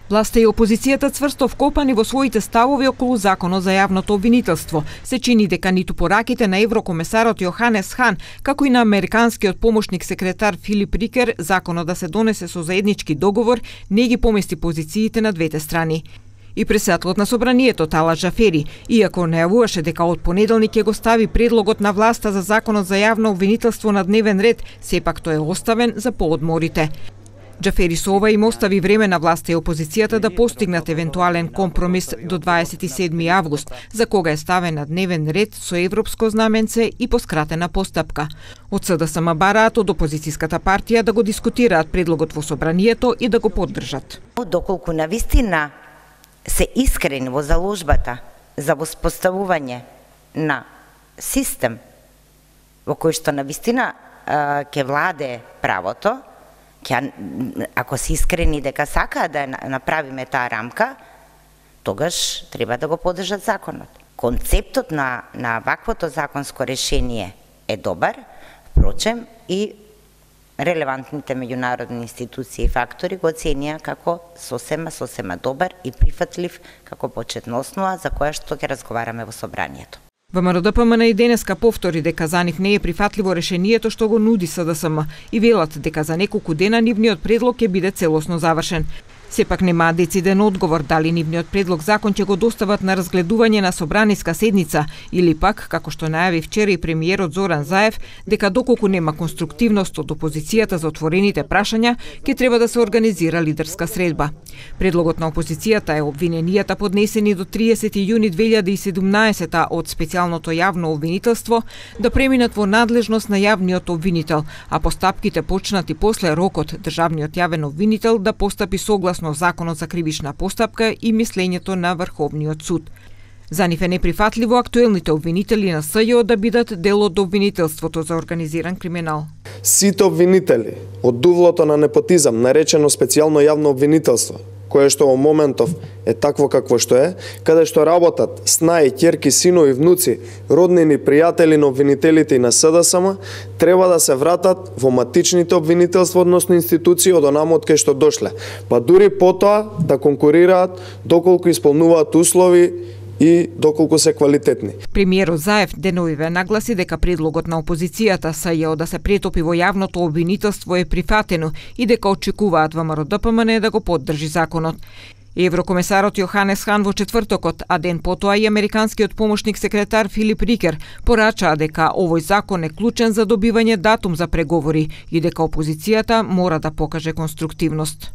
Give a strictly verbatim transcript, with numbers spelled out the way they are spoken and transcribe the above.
Власта и опозицијата цврсто вкопани во своите ставови околу законот за јавното обвинителство. Се чини дека ниту пораките на еврокомесарот Јоханес Хан, како и на американскиот помошник секретар Филип Рикер, законот да се донесе со заеднички договор, не ги помести позициите на двете страни. И председателот на собранието Талат Джафери, иако најавуваше дека од понеделник ќе го стави предлогот на власта за законот за јавно обвинителство на дневен ред, сепак тој е оставен за поодморите. Джафери со ова им остави време на власта и опозицијата да постигнат евентуален компромис до дваесет и седми август, за кога е ставен на дневен ред со европско знаменце и по скратена постапка. Од СДСМ бараат од опозицијската партија да го дискутираат предлогот во собранието и да го поддржат. Доколку навистина се искрени во заложбата за воспоставување на систем во кој што навистина ќе владее правото, ако се искрени дека сакаат да направиме таа рамка, тогаш треба да го поддржат законот. Концептот на, на ваквото законско решение е добар, впрочем и релевантните меѓународни институции и фактори го оценија како сосема, сосема добар и прифатлив како почетна основа за која што ќе разговараме во собранието. ВМРО-ДПМН и денеска повтори дека за нив не е прифатливо решението што го нуди СДСМ и велат дека за неколку дена нивниот предлог ќе биде целосно завршен. Сепак немаа дециден одговор дали нивниот предлог закон ќе го достават на разгледување на собраниска седница или пак, како што најави вчера и премиерот Зоран Заев, дека доколку нема конструктивност од опозицијата за отворените прашања, ќе треба да се организира лидерска средба. Предлогот на опозицијата е обвиненијата поднесени до триесети јуни две илјади и седумнаесета од специјалното јавно обвинителство да преминат во надлежност на јавниот обвинител, а постапките почнати после рокот државниот јавен обвинител да постапи согласно законот за кривична постапка и мислењето на Врховниот суд. За нив е неприфатливо актуелните обвинители на СЈО да бидат дел од обвинителството за организиран криминал. Сите обвинители од дувлото на непотизам, наречено специјално јавно обвинителство, кое што во моментов е такво какво што е, каде што работат снаи, ќерки, синови, внуци, роднини, пријатели на обвинителите и на СДСМ, треба да се вратат во матичните обвинителства, односно институции од онаму од кај што дошле, па дури потоа да конкурираат доколку исполнуваат услови и доколку се квалитетни. Премиерот Заев деновиве нагласи дека предлогот на опозицијата СЈО да се претопи во јавното обвинителство е прифатено и дека очекуваат ВМРО-ДПМН да го поддржи законот. Еврокомесарот Јоханес Хан во четвртокот, а ден потоа и американскиот помошник секретар Филип Рикер порачаа дека овој закон е клучен за добивање датум за преговори и дека опозицијата мора да покаже конструктивност.